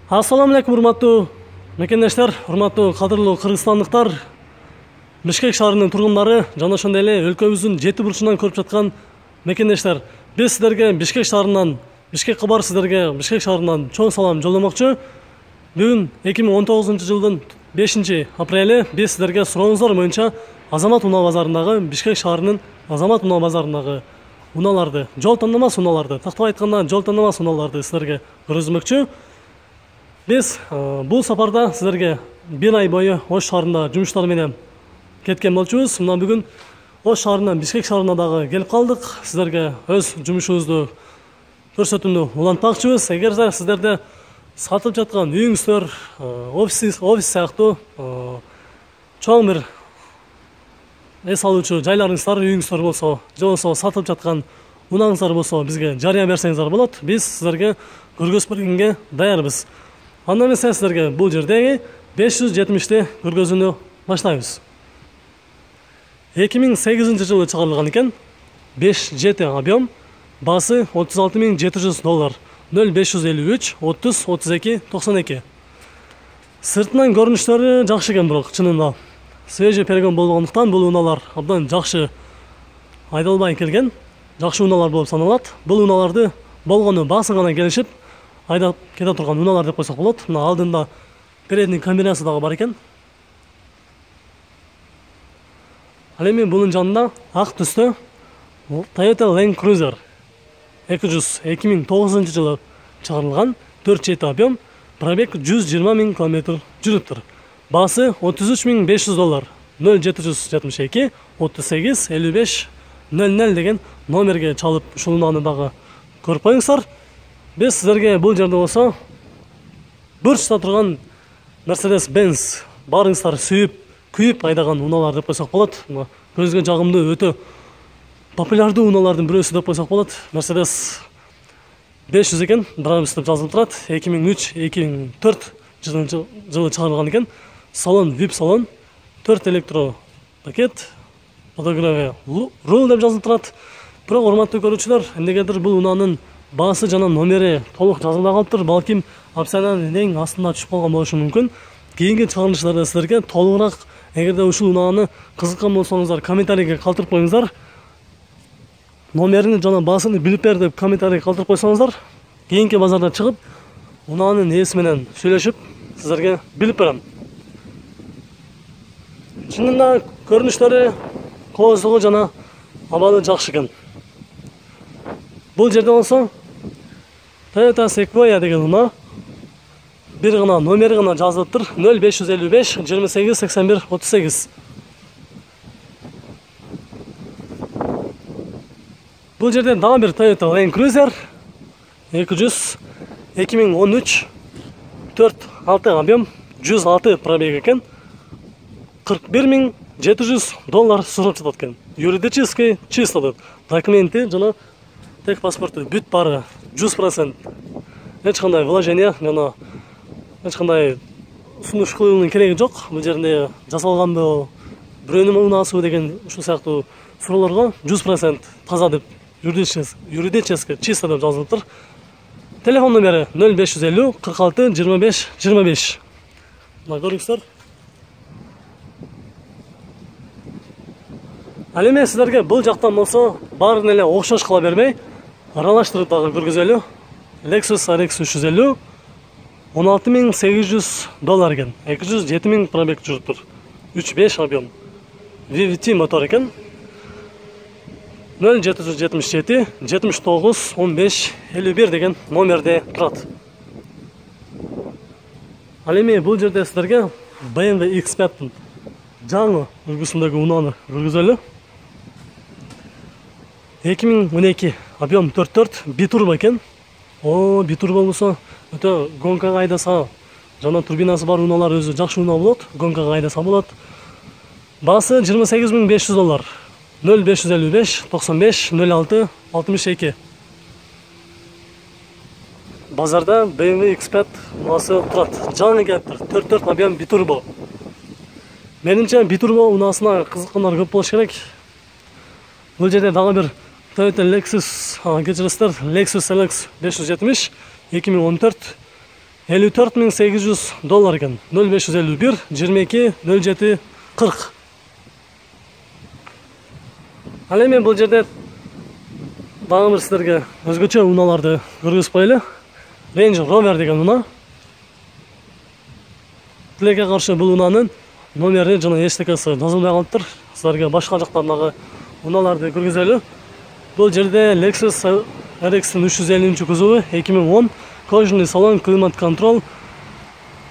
Ассаламу алейкум, урматтуу мекендештер, урматтуу кадырлуу кыргызстандыктар, Бишкек шаарынын тургундары жана ошондой эле өлкөбүздүн жети бурчунан көрүп жаткан мекендештер. Биз сиздерге Бишкек шаарынан, Бишкек кабар сиздерге Бишкек шаарынан чоң салам жолдомокчу. Бүгүн 2019-жылдын 5-апрели биз сиздерге сурооңуздар боюнча Азамат унаа базарындагы, Бишкек шаарынын Азамат унаа базарындагы унааларды, жол тандамас унааларды, тактап айтканда жол тандамас унааларды сиздерге көргөзмөкчү. Биз бул сапарда сиздерге бир ай бою Ош шаарында жумуштар менен кеткен болчубуз. Мына бүгүн Ош шаарынан Бишкек шаарына дагы келип калдык. Сиздерге өз жумушубузду көрсөтүүнү улантмакчыбыз. Эгерде сиздерде сатып жаткан үйүңүздөр, офис сыяктуу чоң бир эс алуучу жайларыңыздар, үйүңүздөр болсо, же болбосо сатылып жаткан унааңыздар болсо, бизге жарыя берсеңиздер болот. Биз сиздерге көргөзүп бергенге даярбыз. Анда эмесе сиздерге бул жердеги 570-ти көргөзүүнү баштайбыз. 2008-жылы чыгарылган экен. 5-7 объем, баасы $36,700, 0553 30 32 92. Сыртынан көрүнүштөрү жакшы экен, бирок чынында свежий перегон болгондуктан бул унаалар абдан жакшы айдалбай келген, жакшы унаалар болуп саналат. Бул унааларды болгону баасы гана келишип айдап кете турган унаалар деп койсок болот. Мына алдында передний камерасы дагы бар экен. Ал эми бунун жанында ак түстө Toyota Land Cruiser 200 2009-жылы чыгарылган 4-7 объем, пробег 120,000 км жүрүптүр. Баасы $33,500, 0772 38 55 00 деген номерге чалып ушул унааны дагы көрүп коюңуздар. Биз сиздерге бул жерде болсо бурчта турган Mercedes-Benz барыңыздар сүйүп, күйүп айдаган унаалар деп койсок болот. Көзгө жагымдуу, өтө популярдуу унаалардын бирөөсү деп койсок болот. Mercedes 500 экен, Brabus деп жазылып турат. 2003-2004 жылы чыгарылган экен. Салон, VIP салон, 4 электро пакет, подогреве руль деп жазылып турат. Бирок урматтуу көрүүчүлөр, эмнегедир бул унаанын баасы жана номери толук жазылбай калыптыр. Балким опциянын эң астына түшүп калган болушу мүмкүн. Кийинки чыгарылыштарда сиздерге толугураак, эгерде ушул унааны кызыккан болсоңуздар, комментарийге калтырып коюңуздар. Номерин жана баасын билип бер деп комментарий калтырып койсоңуздар, кийинки базарда чыгып, унаанын ээси менен сүйлөшүп, сиздерге билип берем. Чынында көрүнүштөрү, кооздугу жана абалы жакшы экен. Бул жерде болсо Toyota Sequoia деген унаа бир гана номери гана жазылыптыр. 0555 28 81 38. Бул жерде дагы бир Toyota Land Cruiser 200 2013 4-6 объем, 106 пробег экен. $41,700 сурап жатат экен. Юридический чисто деп. Документи жана тек паспорту бүт бары 100%. Эч кандай вложение жана эч кандай сунуш кылуунун кереги жок. Бул жерде жасалганбы, бирөөнүн унаасыбы деген ушул сыяктуу суроолорго 100% таза деп, юридически чисто деп жазылыптыр. Телефон номери 0550 46 25 25. Мына көрүңүздөр. Ал эми сиздерге бул жактан болсо баарын эле окшош кыла бермей, аралаштырып дагы көргөзөлү. Lexus RX 350 $16,800 экен. 207,000 пробег жүрүптүр. 3.5 объем. VVT мотор экен. 0777 79 15 51 деген номерде турат. Ал эми бул жерде сиздерге BMW X5 жаңы үлгүсүндөгү унааны көргөзөлү. 2012 объем 44 битурбо экен. Битурбо болсо өтө гонкага айдаса жана турбинасы бар унаалар өзү жакшы унаа болот. Гонкага айдаса болот. Баасы $28,500, 0555 95 06 62. Базарда BMW X5 унаасы турат. Жаңы келиптир. 44 объем битурбо. Менимче битурбо унаасына кызыккандар көп болуш керек. Бул жерде дагы бир Toyota Lexus, кечиресиздер, Lexus LX 570 2014 $54.800 экен. 0551 22 07 40. Ал эми бул жерде дагы бир сиздерге өзгөчө унааларды көргөзүп коелу. Range Rover деген унаа. Тилекке каршы бул унаанын номери жана эчтекеси жазылбай калыптыр. Сиздерге башка жактардагы унааларды көргөзөлү. Бул жерде Lexus RX 350 кузову 2010, кожаный салон, климат-контрол,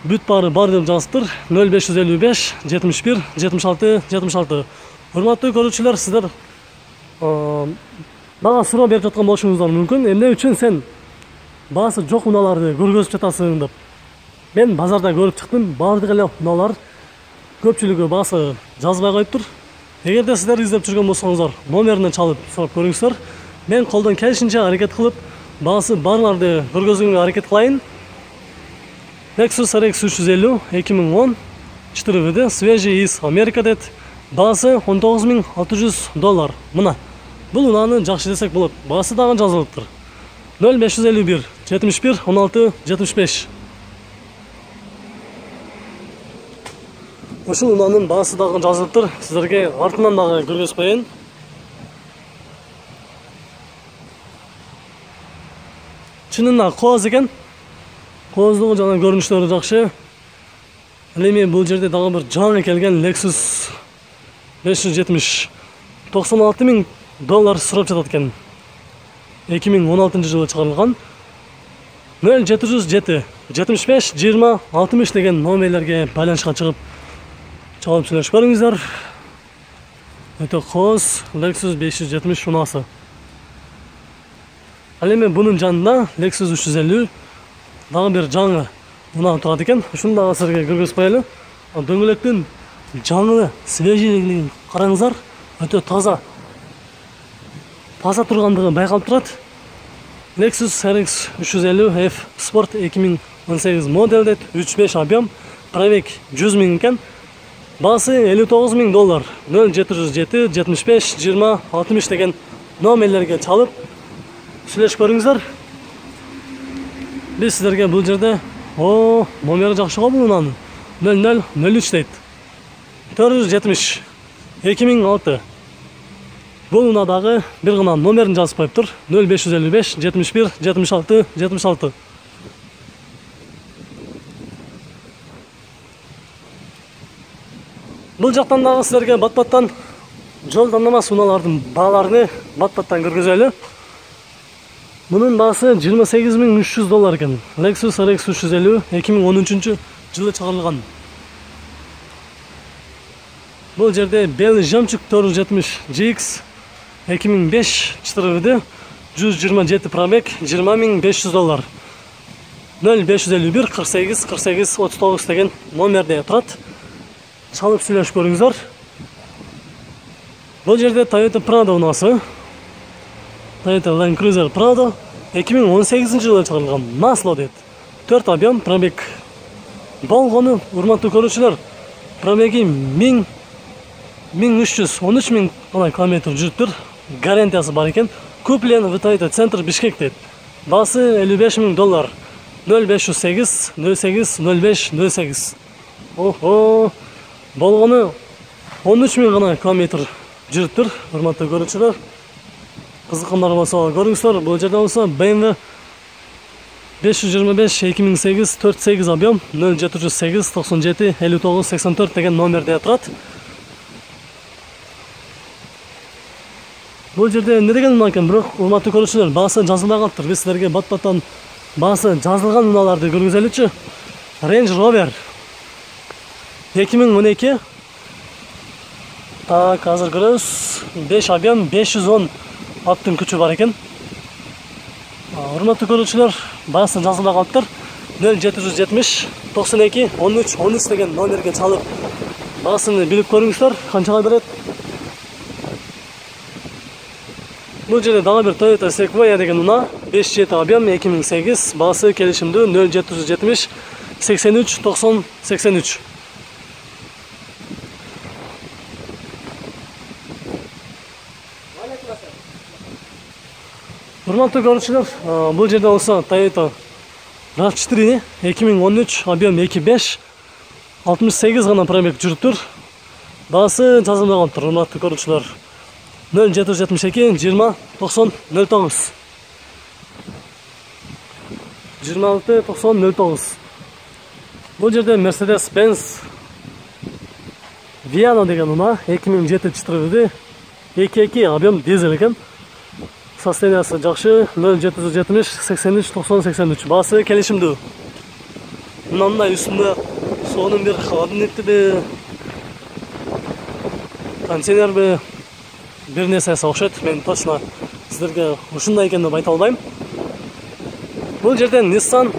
бүт баары бар деп жазыптыр. 0555 71 76 76. Урматтуу көрүүчүлөр, сиздер мага суроо берип жаткан болушуңуздар мүмкүн. Эмне үчүн сен баасы жок унааларды көргөзүп жатасың деп. Мен базарда көрүп чыктым, баардык эле унаалар көпчүлүгү баасы жазбай коюптур. Эгерде сиздер издеп жүргөн болсоңуздар, номерине чалып сурап көрүңүздөр. Мен колдон келишинче аракет кылып, баасы барларды көргөзүүгө аракет кылайын. Lexus RX 350 2010 4WD, свежий из Америка дейт. Баасы $19.600. Мына. Бул унааны жакшы десек болот. Баасы дагы жазылыптыр. 0551 71 16 75. Ушул унаанын баасы дагы жазылыптыр. Сиздерге артынан дагы көргөзүп коеюн. Чынында кооз экен. Кооздугу жана көрүнүштөрү жакшы. Ал эми бул жерде дагы бир жаңы келген Lexus 570 $96.000 сурап жатат экен. 2016 жылы чыгарылган. 0707 75 20 60 деген номерлерге байланышка чыгып чалып сүйлөшүп көрүңүздөр. Өтө кооз Lexus 570 унаасы. Ал эми бунун жанында Lexus 350 дагы бир жаңы унаа турат экен. Ушуну дагы силерге көргөзүп коелу. Дөңгөлөктүн жаңы свежийлигин караңыздар. Өтө таза тургандыгы байкалып турат. Lexus RX 350 F Sport 2018 модель дейт. 3.5 объем, пробег 100.000 экен. Баасы $59.000. 0707 75 20 60 деген номерлерге чалып сүйлөшүп көрүңүздөр. Биз сиздерге бул жерде номери жакшы го бул унаанын. 0003 дейт. 470 2006. Бул унаадагы бир гана номерин жазып коюптур. 0555 71 76 76. Бул жактан дагы сиздерге бат-баттан жол тандамас унаалардын бааларын бат-баттан көргөзөлү. Мунун баасы $28.300 экен. Lexus RX 350 2013 жылы чыгарылган. Бул жерде Bell Жемчуг 470 GX 2005 4WD 127 пробег $20.500. 0551 48 48 39 деген номерде турат. Чалып сүйлөшүп көрүңүздөр. Бул жерде Toyota Prado унаасы. Toyota Land Cruiser Prado 2018 жылы чыгарылган. Масло дейт. 4 объем, пробег болгону, урматтуу көрүүчүлөр. Пробеги 1313 000 километр жүрүптүр. Гарантиясы бар экен. Куплен в Toyota Центр Бишкек дейт. Баасы $55.000. 0508 08 05 08. Болгону 13 000 гана километр жүрүптүр. Урматтуу көрүүчүлөр. Кызыккандар болсо көрүңүздөр. Бул жерде болсо BMW 525 2008 48 объем 0708 97 59 84 деген номерде турат. Бул жерде эмне деген унаа экен, бирок урматтуу көрүүчүлөр, баасы жазылбай калыптыр. Биз силерге бат-баттан баасы жазылган унааларды көргөзөлүчү. Range Rover 2012. Так, азыр көрөбүз. 5 объем 510 аттын күчү бар экен. Урматтуу көрүүчүлөр, баасы жазылбай калыптыр. 0770 92 13 13 деген номерге чалып баасын билип көрүңүздөр, канчага берет. Бул жерде дагы бир Toyota Sequoia деген унаа, 5.7 объем 2008, баасы келишимдүү 0770 83 90 83. Урматтуу көрүүчүлөр, бул жерде болсо Toyota RAV4 2013 объем 2.5 68 гана пробег жүрүптүр. Баасы жазылмагантыр, урматтуу көрүүчүлөр. 0772 20 90 09 26 90 09. Бул жерде Mercedes-Benz Viana деген унаа 2007 2.2 объем дизель экен. Состояниясы жакшы. 0770 83 90 83. Баасы келишимдүү. Мындай үстүндө сонун бир холодильниктиби, контейнерби бир нерсеси окшойт. Мен точно сиздерге ушундай экен деп айта албайм. Бул жерде Nissan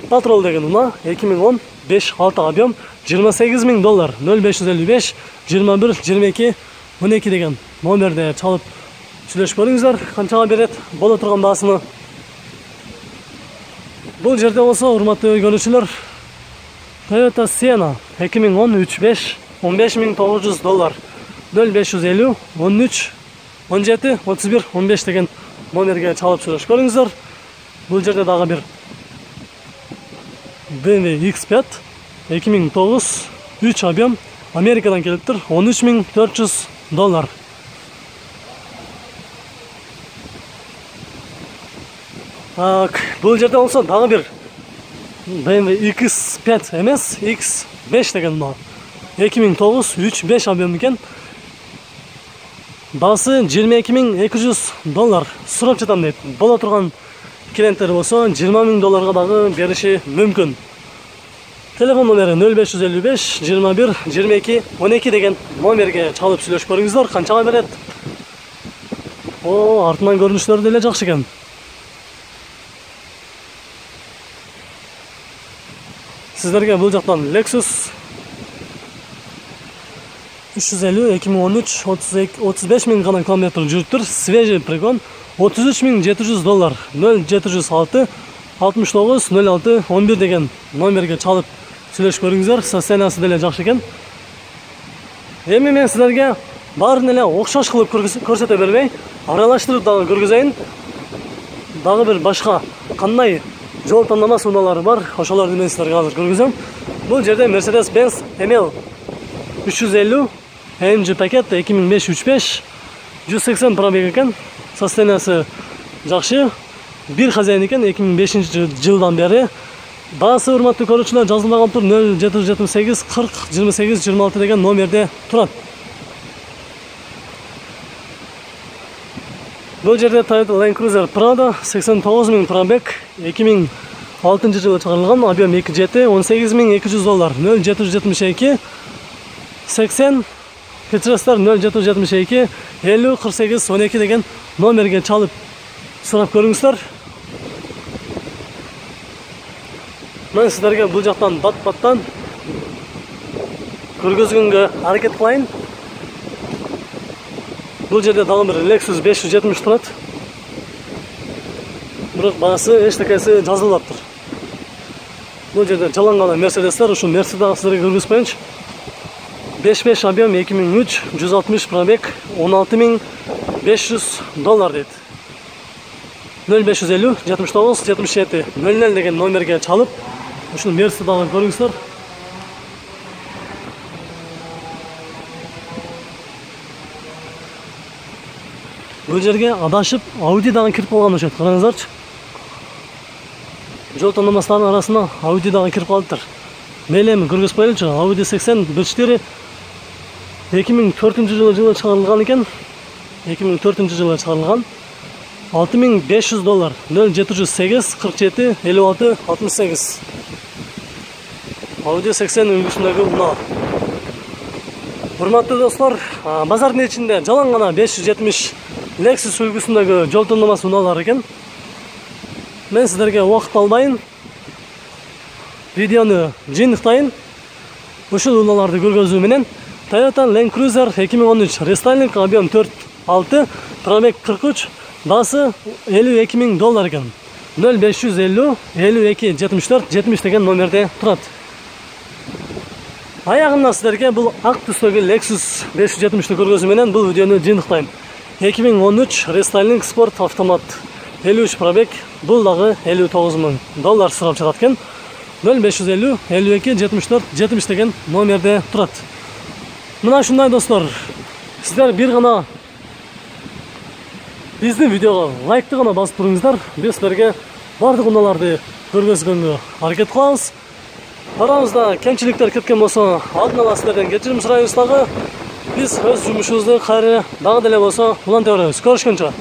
Patrol деген унаа 2010 5.6 объем $28,000 0555 21 22 12 деген номерде чалып сүйлөшүп көрүңүздөр. Канчага берет боло турган баасыны. Бул жерде болсо урматтуу көрүүчүлөр Toyota Sienna 2010 3.5 $15,900 0550 13 17 31 15 деген номерге чалып сүйлөшүп көрүңүздөр. Бул жерде дагы бир BMW X5 2009 3 объем Америкадан келиптир $13,400. Бул жерде болсо дагы бир BMW X5 эмес, X5 деген унаа 2009 3.5 объем экен. Баасы $22,200. Сурап жатам дейт. Боло турган клиенттер болсо $20,000 дагы бериши мүмкүн. Телефон номери 0555 21 22 12 деген номерге чалып сүйлөшүп көрүңүздөр. Канчага берет? Артынан көрүнүштөрү деле жакшы экен. Сиздерге бул жактан Lexus 350 2013 35,000 гана километр жүрүптүр. Свежий пригон $33,700 0706 69 06 11 деген номерге чалып сүйлөшүп көрүңүздөр. Состояниясы деле жакшы экен. Эми мен сиздерге баарын эле окшош кылып көрсөтө бербей, аралаштырып дагы көргөзөйүн. Дагы бир башка кандай жол тандамас унаалары бар, ошолорду мен сиздерге азыр көргөзөм. Бул жерде Mercedes-Benz ML 350 AMG пакет 2005 3.5 180 пробег экен. Состояниясы жакшы. Бир хозяин экен 2005-жылдан бери. Баасы урматтуу көрүүчүлөр жазылмаган тур 0778 40 28 26 деген номерде турат. Бул жерде Toyota Land Cruiser Prado 89,000 пробег 2006 жылы чыгарылган, объем 2.7 $18,200 0772 80 кечиресиздер 0772 50 48 12 деген номерге чалып сурап көрүңүздөр. Мен сиздерге бул жактан бат-баттан көргөзгөнгө аракет кылайын. Бул жерде дагы бир Lexus 570 турат. Бирок баасы эчтекеси жазылбаптыр. Бул жерде жалаң гана Mercedes'тер, ушу Mercedes сиздерге көргөзүп коеюнчу. 5.5 объем 2003 160 пробег $16,500 дейт. 0550 79 77 00 деген номерге чалып ушул Mercedes дагы көрүңүздөр. Бул жерге адашып Audi дагы кирип калган окшойт. Караңыздарчы. Жол тандамастардын арасына Audi дагы кирип калыптыр. Мейли эми көргөзүп коелучу. Audi 80 1.4 2004 жылы чыгарылган экен. 2004 жылы чыгарылган. $6,500 0708 47 56 68. Audi 80 үлгүсүндөгү унаа. Урматтуу достор, базардын ичинде жалаң гана 570 Lexus үлгүсүндөгү жол тандамас унаалар экен. Мен сиздерге убакыт албайын. Видеону жыйынтыктайын. Ушул унааларды көргөзүү менен Toyota Land Cruiser 2013 рестайлинг, объем 4.6, пробег 43, баасы $52,000 экен. 0550 52 74 70 деген номерде турат. Аягында сиздерге бул ак түстөгү Lexus 570 көргөзүү менен бул видеону жыйынтыктайм. 2013 рестайлинг спорт автомат 53 пробег, бул дагы $59,000 сурап жатат экен. 0550 52 74 70 деген номерде турат. Мына ушундай достор, сиздер бир гана биздин видеого лайкты гана басып туруңуздар. Биз силерге бардык унааларды көргөзгөнгө аракет кылабыз. Арамызда кемчиликтер кеткен болсо, алдын ала силерден кечирим сурайбыз дагы. Биз өз жумушубузду кайра дагы деле болсо уланта беребиз. Көрүшкөнчө.